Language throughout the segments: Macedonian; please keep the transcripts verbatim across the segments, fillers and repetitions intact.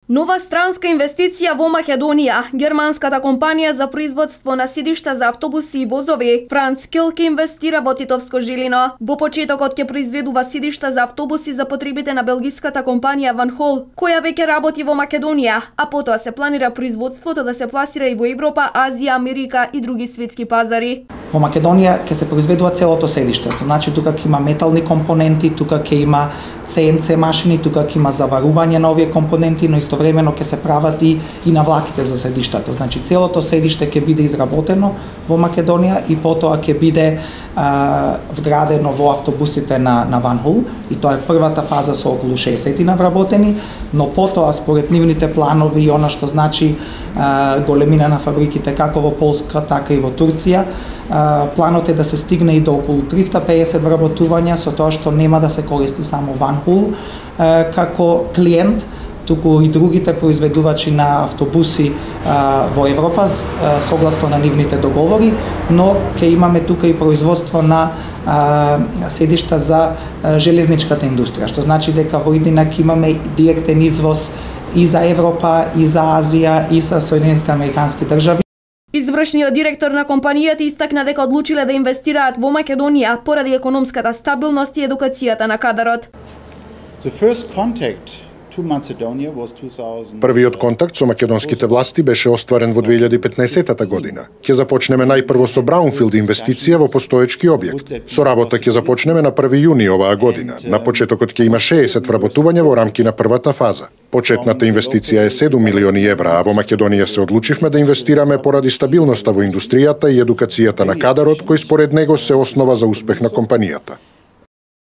Нова странска инвестиција во Македонија. Германската компанија за производство на сидишта за автобуси и возови Франскил ќе инвестира во Титовско Жилино. Во почетокот ќе произведува сидишта за автобуси за потребите на белгиската компанија Van Hool, која веќе работи во Македонија, а потоа се планира производството да се пласира и во Европа, Азија, Америка и други светски пазари. Во Македонија ќе се произведува целото седиште, значи тука ќе има метални компоненти, тука ќе има Си Ен Си машини, тука ќе има заварување на овие компоненти, но истовремено ќе се прават и, и навлаките за седиштата. Значи целото седиште ќе биде изработено во Македонија и потоа ќе биде а, вградено во автобусите на, на Van Hool, и тоа е првата фаза со околу шеесет вработени, но потоа според нивните планови и она што значи а, големина на фабриките како во Полска, така и во Турција, а, планот е да се стигне и до околу триста пеесет вработувања, со тоа што нема да се користи само Van Hool а, како клиент, туку и другите произведувачи на автобуси а, во Европа а, согласно на нивните договори, но ќе имаме тука и производство на а, седишта за а, железничката индустрија, што значи дека во иднина ќе имаме директен извоз и за Европа, и за Азија, и за Соединетите американски држави. Извршниот директор на компанијата истакна дека одлучиле да инвестираат во Македонија поради економската стабилност и едукацијата на кадарот. The first contact Првиот контакт со македонските власти беше остварен во две илјади и петнаесета година. Ќе започнеме најпрво со браунфилд инвестиција во постоечки објект. Со работа ќе започнеме на први јуни оваа година. На почетокот ќе има шеесет вработувања во рамки на првата фаза. Почетната инвестиција е седум милиони евра, а во Македонија се одлучивме да инвестираме поради стабилноста во индустријата и едукацијата на кадарот, кој според него се основа за успех на компанијата.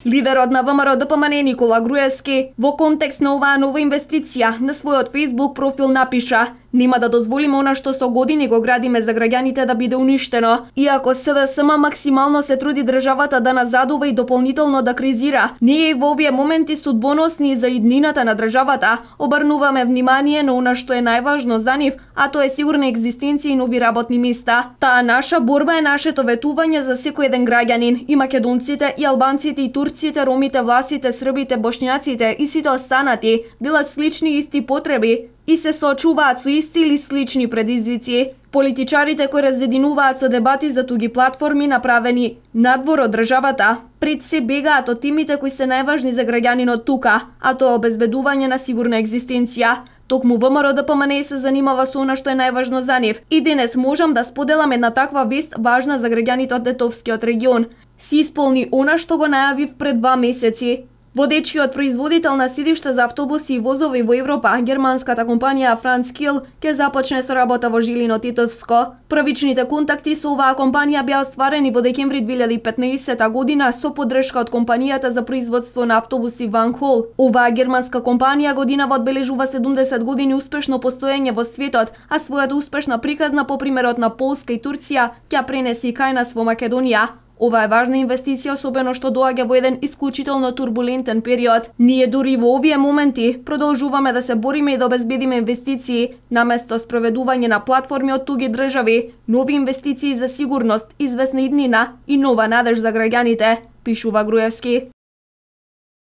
Лидерот на ВМРО Д П М Н Никола Груевски во контекст на оваа нова инвестиција на својот Facebook профил напиша: "Нема да дозволиме она што со години го градиме за граѓаните да биде уништено. Иако С Д С М максимално се труди државата да назадува и дополнително да кризира, ние и во овие моменти судбоносни за иднината на државата обрнуваме внимание на она што е најважно за нив, а тоа е сигурна екзистенција и нови работни места. Таа наша борба е нашето ветување за секој еден граѓанин, и македонците, и албанците, и турците, ромите, власите, србите, бошњаците и сите останати делат слични исти потреби и се соочуваат со исти или слични предизвици. Политичарите кои разединуваат со дебати за туги платформи направени надвор од државата, пред се бегаат од темите кои се најважни за граѓанинот тука, а тоа обезбедување на сигурна екзистенција. Токму ВМРО Д П М Н се занимава со она што е најважно за нив. И денес можам да споделам една таква вест важна за граѓаните од Тетовскиот регион. Си исполни она што го најавив пред два месеци. Водечкиот производител на сидишта за автобуси и возови во Европа, германската компанија Франскил, ќе започне со работа во Жилино Титовско. Првичните контакти со оваа компанија беа остварени во декември две илјади и петнаесета година со поддршка од компанијата за производство на автобуси Van Hool. Оваа германска компанија годинава одбележува седумдесет години успешно постоење во светот, а својата успешна приказна по примерот на Полска и Турција ќе пренесе и кај нас во Македонија. Ова е важна инвестиција, особено што доаѓа во еден исклучително турбулентен период. Ние дури во овие моменти продолжуваме да се бориме и да обезбедиме инвестиции, наместо спроведување на платформи од туги држави, нови инвестиции за сигурност, известна иднина и нова надеж за граѓаните, пишува Груевски.